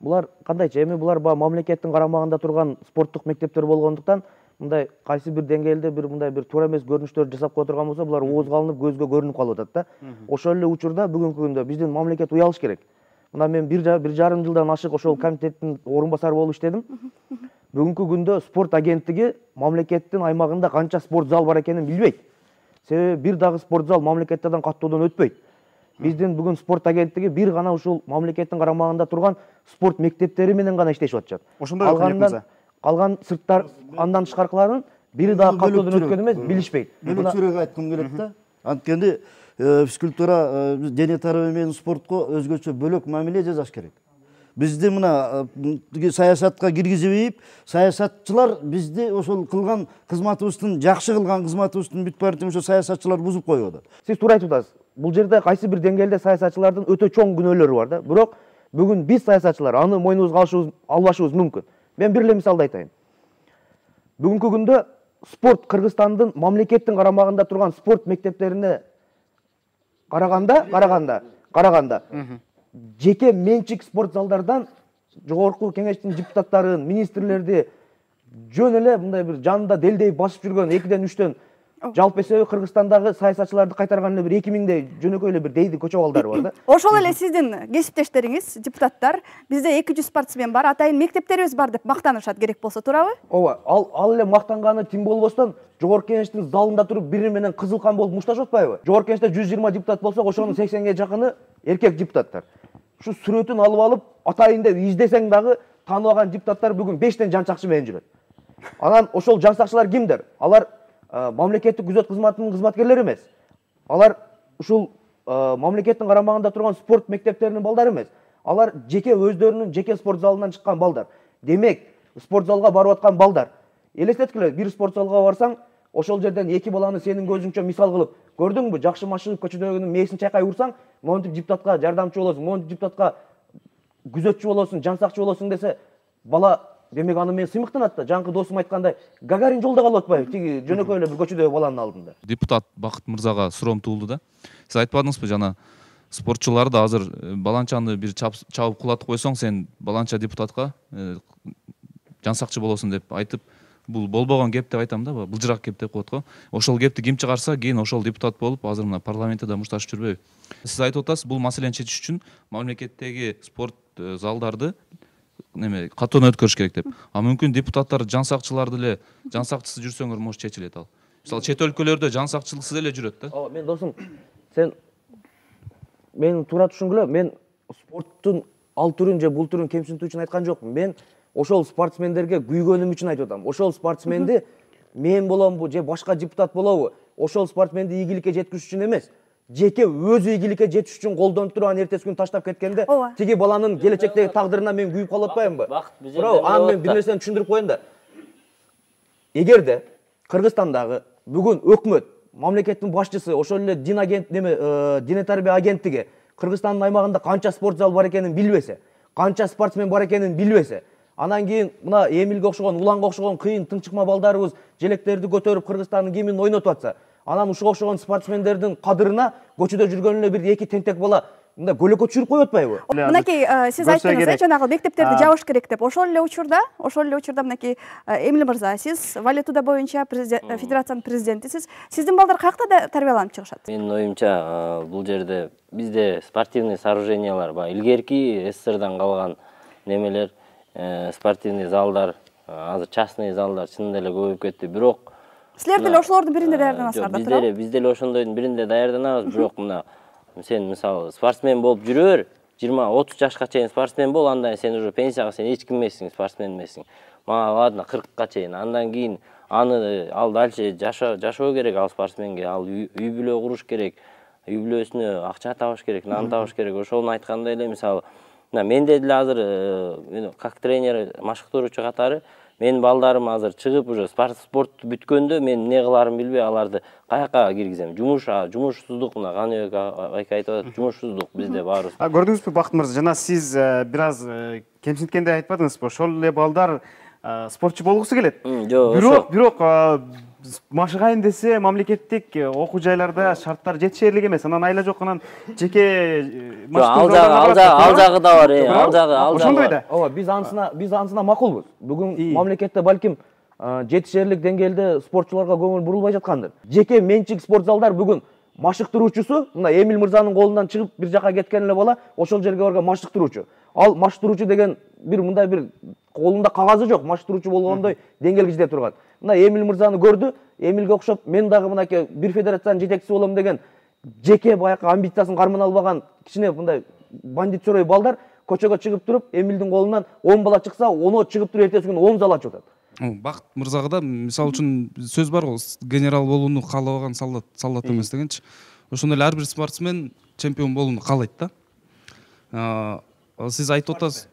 Булар кандайчы? Эми булар мамлекеттин карамагында турган спорттук мектептер болгондуктан мындай кайсы бир деңгээлде мындай бир туура эмес көрүнүштөрдү жасап кое турган болсо, булар оозго алынып, көзгө көрүнүп калып атат да. Ошол эле учурда бүгүнкү күндө биздин мамлекет уялыш керек. Мына мен 1,5 жылдан ашык ошол комитеттин орун басары болуп иштедим. Бүгүнкү күндө спорт агенттиги мамлекеттин аймагында канча спорт зал бар экенин билбейт. Себеби бир дагы спорт зал мамлекеттерден каттоодон өтпөйт. Биздин бүгүн спорт агенттиги бир гана ушул мамлекеттин карамагында турган спорт мектептери менен гана иштешип атышат. Ошондой калган сырттар андан тышкаркыларын бири дагы каттоодон өткөн эмес, билишпейт. Бөлөкчүрөөк айткым келет да. Анткени физкультура, дене тарбия менен спортко өзгөчө бөлөк мамиле жасаш керек. Бизди мына саясатка киргизип, саясатчылар бизди ошол кылган кызматыбыздын, жакшы кылган кызматыбыздын бүт баарын ошо саясатчылар бузуп коюп атат. Сиз туура айтып атасыз. Бул жерде кайсы бир деңгээлде саясатчылардын өтө чоң күнөөлөрү бар да. Бирок бүгүн биз саясатчылар аны мойнубузга албашыбыз мүмкүн. Мен бир эле мисалды айтайын. Бүгүнкү күндө спорт Кыргызстандын мамлекеттин карамагында турган спорт мектептерине караганда жеке менчик спорт залдардан жогорку кеңештин депутаттарын, министрлерди жөн эле мындай бир жанында делдей басып жүргөн 2-3төн жалпы эсеби Кыргызстандагы саясатчыларды кайтарган эле бир 2000дей жөнөкөй эле бир дейди көчө балдары бар да. Ошол эле сиздин кесиптештериңиз, депутаттар, бизде 200 спортсмен бар, атайын мектептерибиз бар деп мактанышат керек болсо, туурабы? Ооба, ал эле мактанганы тим болбостон жогорку кеңештин залында туруп бири менен кызыл кан болуп мушташып атпайбы? Жогорку кеңеште 120 депутат болсо, ошонун 80ге жакыны эркек депутаттар. Ушу сүрөтүн алып атайын деп издесең дагы тааныбаган депутаттар бүгүн 5тен жан сакчы менен жүрөт. Анан ошол жан сакчылар кимдер? Алар мамлекеттик күзөт кызматынын кызматкерлери эмес. Алар ушул мамлекеттин карамагында турган спорт мектептеринин балдары эмес. Алар жеке өздөрүнүн жеке спорт залынан чыккан балдар. Демек, спорт залга барып аткан балдар. Элестеткиле, бир спорт залга барсаң, ошол жерден 2 баланы сенин көзүңчө мисал кылып, көрдүңбү, жакшы машыгып көчөдөгүнүн мээсин чайкай урсаң, монтип депутатка жардамчы болосуң, монтип депутатка күзөтчү болосуң, жан сакчы болосуң десе, бала демек аны мен сыймыктанат да. Жаңкы досум айткандай, Гагарин жолдо калып атпайбы, тиги жөнөкөй эле бир көчөдөгү баланын алдында. Депутат Бакыт мырзага суроом туулду да. Сиз айтпадыңызбы жана спортчуларды азыр баланчаны бир чабып кулатып койсоң, сен баланча депутатка жан сакчы болосуң деп айтып, бул болбогон кеп деп айтам да, былжырак кеп деп коет го. Ошол кепти ким чыгарса, кийин ошол депутат болуп, азыр мына парламентте да мушташып жүрбөйбү. Сиз айтып атасыз, бул маселени чечиш үчүн мамлекеттеги спорт залдарды каттоодон өткөрүш керек деп. А мүмкүн депутаттар жан сакчыларды эле жан сакчысы жүрсөңөр может чечилет ал. Мисалы чет өлкөлөрдө жан сакчылыксыз эле жүрөт да. Ооба, мен досум, сен мени туура түшүнгүлө, мен спорттун ал түрүн же бул түрүн кемсинтүү үчүн айткан жокмун. Мен ошол спортсмендерге күйгөнүм үчүн айтып атам. Ошол спортсменди мен боломбу же башка депутат болобу? Ошол спортсменди ийгиликке жеткизиш үчүн эмес, жеке өзү ийгиликке жетиш үчүн колдонуп туруп анан эртеси күнү таштап кеткенде, тиги баланын келечектеги тагдырына мен күйүп калып атпаймынбы? Бирок анан мен бир нерсени түшүндүрүп коеюн да. Эгерде Кыргызстандагы бүгүн өкмөт, мамлекеттин башчысы, ошол эле дене тарбия агенттиги Кыргызстандын аймагында канча спорт зал бар экенин билбесе, канча спортсмен бар экенин билбесе, анан кийин мына Эмилге окшогон, Уланга окшогон кыйын тыңчыкма балдарыбыз желектерди көтөрүп Кыргызстандын гимнин ойнотуп атса, анан ушуга окшогон спортсмендердин кадырына көчөдө жүргөн эле бир 2 тентек бала мындай көлөкө түшүрүп коюп атпайбы? Мынакей сиз айттыңыз, жанагы мектептерди жабыш керек деп. Ошол эле учурда мынакей Эмил мырза, сиз валютуда боюнча федерациянын президентисиз. Сиздин балдар каякта тарбияланып чыгышат? Менин оюмча, бул жерде бизде спортивный сооружениялар бар. Илгерки СССРдан калган немелер, спортивный залдар, азыр частный залдар чынында эле көбөйүп кетти. Бирок силер деле ошолордун биринде даярданасыздар да, туурабы? Биз деле ошондойдун биринде даярданабыз, бирок мына сен мисалы спортсмен болуп жүрөр, 20-30 жашка чейин спортсмен бол, андан сен уже пенсияга сен эч ким эмессиң, спортсмен эмессиң. Мага ладно 40ка чейин, андан кийин ал дальше жашоо керек ал спортсменге, ал үй бүлө куруш керек, үй бүлөсүнө акча табыш керек, нан табыш керек. Ошону айткандай эле мисалы менде деле азыр как тренер, машыктыруучу катары менин балдарым азыр чыгып уже спортту бүткөндө мен эмне кыларымды билбей аларды каяка киргизем. Жумушсуздук, мына Каныбек айка айтып атат, жумушсуздук бизде баарыбыз. Көрдүңүзбү Бакыт мырза, жана сиз бир аз кемсинткенде айтпадыңызбы? Ошол эле балдар спортчу болгусу келет. Жок, бирок машыгайын десе мамлекеттик окуу жайларда шарттар жетишерлик эмес. Анан айла жок, анан жеке ал жагы да бар, ал жагы. Ошондой да. Ооба, биз ансына макулбуз. Бүгүн мамлекетте балким жетишерлик деңгээлде спортчуларга көңүл бурулбай жаткандыр. Жеке менчик спорт залдар бүгүн машыктыруучусу, мына Эмил мырзанын колунан чыгып бир жака кеткен эле бала ошол жерге барган машыктыруучу. Ал машыктыруучу деген мындай бир колунда кагазы жок, машыктыруучу болгондой деңгээлге жете турган. Мына Эмил мырзаны көрдү, Эмилге окшоп мен дагы мынакей бир федерациянын жетекчиси болом деген жеке баягы амбициясын кармана албаган кичине мындай бандит чорой балдар көчөгө чыгып туруп, Эмилдин колунан 10 бала чыкса, 10 чыгып туруп эртеси күнү 10 зал ачып атат. Бакыт мырзага да мисалы үчүн сөз бар го, генерал болууну каалабаган солдат эмес дегенчи. Ошондой эле ар бир спортсмен чемпион болууну каалайт да. Сиз айтып атасыз,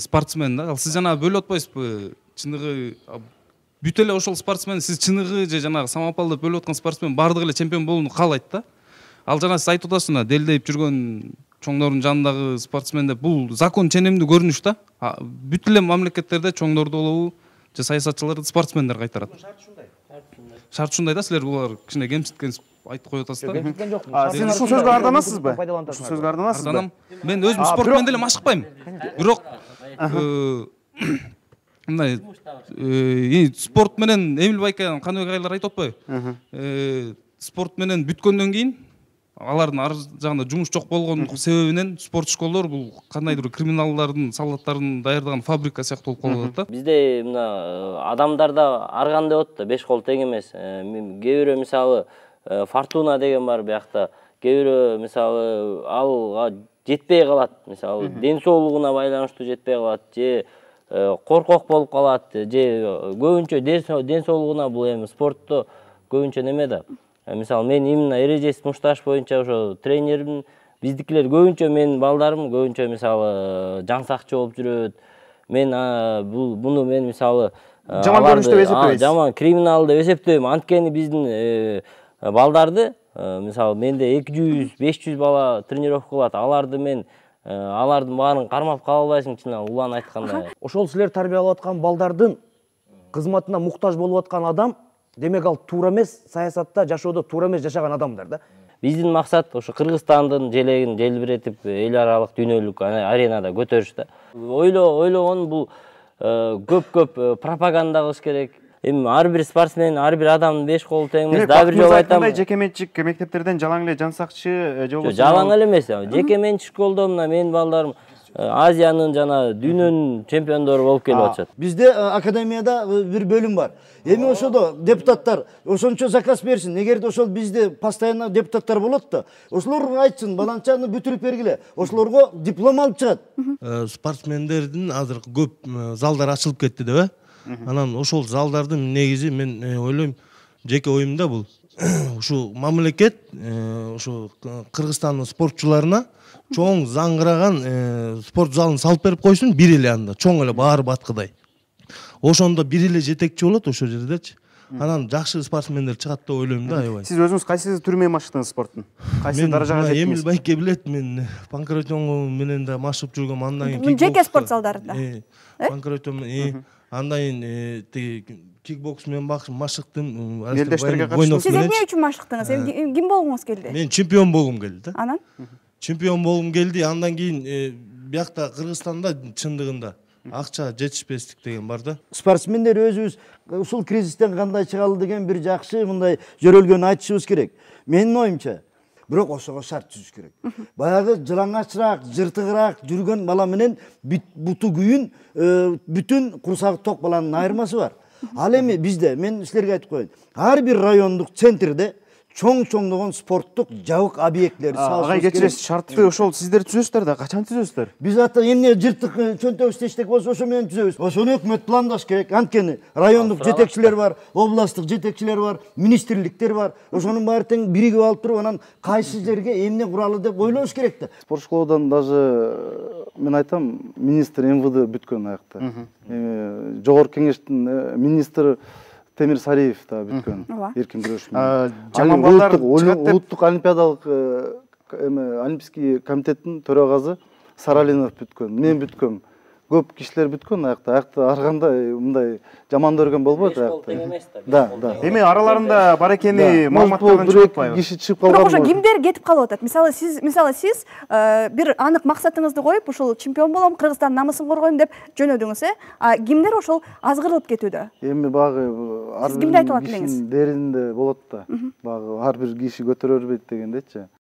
спортсмен да. Ал сиз жанагы бөлүп атпайсызбы? Чыныгы бүт эле ошол спортсмен, сиз чыныгы же жанагы самопал деп бөлүп аткан спортсмен баардыгы эле чемпион болууну каалайт да. Ал жана сиз айтып атасыз, делдейип жүргөн чоңдордун жанындагы спортсмен деп, бул закон ченемдүү көрүнүш да. Бүт эле мамлекеттерде чоңдорду болобу же саясатчыларды спортсмендер кайтарат. Шарт ушундай да, силер булар кичине кемситкен айтып коюп атасыз да. Кемситкен жокмун. Сиз ушул сөзгө арданасызбы? Ушул сөзгө арданасызбы? Мен өзүм спорт менен деле машыкпайм. Бирок мындай спорт менен Эмил Байкенов, Каныбек айлар айтып атпайбы? Спорт менен бүткөндөн кийин алардын ар жагында жумуш жок болгон себебинен спорт школдор бул кандайдыр криминалдардын, солдаттардын даярдаган фабрика сыяктуу болуп калып атат да. Бизде мына адамдарда арган деп атат да, 5 кол тең эмес. Кээ бирөө мисалы Фортуна деген бар биякта. Кээ бирөө мисалы алга жетпей калат. Мисалы ден соолугуна байланыштуу жетпей калат, же коркок болуп калат, же көбүнчө ден соолугуна бул эми спортто көбүнчө неме да. Мисалы мен именно эрежесиз мушташ боюнча ошо тренерим, биздикилер көбүнчө менин балдарым көбүнчө мисалы жан сакчы болуп жүрөт. Мен буну мен мисалы жаман көрүнүш деп эсептебейсиз? Жаман криминал деп эсептебейм. Анткени биздин балдарды мисалы менде 200-500 бала тренировка кылат. Алардын баарын кармап кала албайсың, чын улан айтканда. Ошол силер тарбиялап аткан балдардын кызматына муктаж болуп аткан адам, демек ал туура эмес, саясатта жашоодо туура эмес жашаган адамдар да. Биздин максат ошо Кыргызстандын желегин желбиретип эл аралык дүйнөлүк аренада көтөрүш да. Ойлогон бул көп пропаганда кылыш керек. Эми ар бир спортсмен, ар бир адамдын 5 колу тең эмес. Дагы бир жолу айтам. Кандай жекеменчик мектептерден жалаң эле жан сакчы же болбосо жалаң эле эмес. Жекеменчик школдо мына менин балдарым Азиянын жана дүйнөнүн чемпиондору болуп келип атышат. Бизде академияда бир бөлүм бар. Эми ошодо депутаттар ошончо заказ берсин. Эгерде ошол бизде постоянно депутаттар болот да, ошолорго айтсын, баланчаны бүтүрүп бергиле. Ошолорго диплом алып чыгат. Спортсмендердин азыр көп залдар ачылып кетти деп. Анан ошол залдардын негизи мен ойлойм, жеке оюмда бул ушу мамлекет ушу Кыргызстандын спортчуларына чоң заңгыраган спорт залын салып берип койсун, бир эле анда, чоң эле баары баткыдай. Ошондо бир эле жетекчи болот ошол жердечи. Анан жакшы спортсмендер чыгат деп ойлойм да, аябай. Сиз өзүңүз кайсы түрү машыктыңыз спорттун? Кайсы даражага жеттиңиз? Эмил Байке билет, мен панкратион менен да машыгып жүргөм, андан кийин жеке спорт залдарында. Панкратион андан кийин кикбокс менен машыктым. Элдештерге катыштыңыз? Сиз эмне үчүн машыктыңыз? Ким болгуңуз келди? Мен чемпион болгум келди да. Анан? Чемпион болгум келди, андан кийин биякта Кыргызстанда чындыгында акча жетишпестик деген бар да. Спортсмендер өзүбүз ушул кризистен кандай чыгалы деген бир жакшы мындай жөрөлгөн айтышыбыз керек. Менин оюмча. Бирок ошого шарт түзүш керек. Баягы жылаңачыраак, жыртыгыраак жүргөн бала менен буту күйүн, бүтүн курсагы ток баланын айырмасы бар. Ал эми бизде, мен силерге айтып коеюн, ар бир райондук центрде чоң-чоңдогон спорттук жабык объектилер салышыбыз керек. Агай кечиресиз, шартты ошол сиздер түзөсүздөр да, качан түзөсүздөр? Биз ата эмне жыртык чөнтөбүз эчтек болсо ошо менен түзөбүз. Ошону өкмөт пландаш керек. Анткени райондук жетекчилер бар, областтык жетекчилер бар, министрликтер бар. Ошонун баары тең биригип алып туруп, анан кайсы жерге эмне куралы деп ойлош керек да. Спорт школадан даже мен айтам, министр МВД бүткөн аякта. Жогорку кеңештин министри Темир Сариев да бүткөн, эркин күрөш менен. Жаман балдар улуттук олимпиадалык олимпийский комитеттин төрагасы Саралинов бүткөн, мен бүткөм. көп кишилер бүткөн аякта ар кандай мындай жаман көргөн болбойт аякта. Да. Эми араларында бар экени Может, маалыматтардан бир чыгып эки атпайбы? киши чыгып Бирок калган. ошо кимдер кетип калып атат? Мисалы сиз бир анык максатыңызды коюп, ушул чемпион болом, Кыргызстандын намысын коргойм деп жөнөдүңүз, А кимдер ошол азгырылып кетүүдө? Эми багы ар Сиз кимди айтып бир алат элеңиз? кишинин деринде болот да. Багы ар бир киши көтөрө бербейт дегендечи.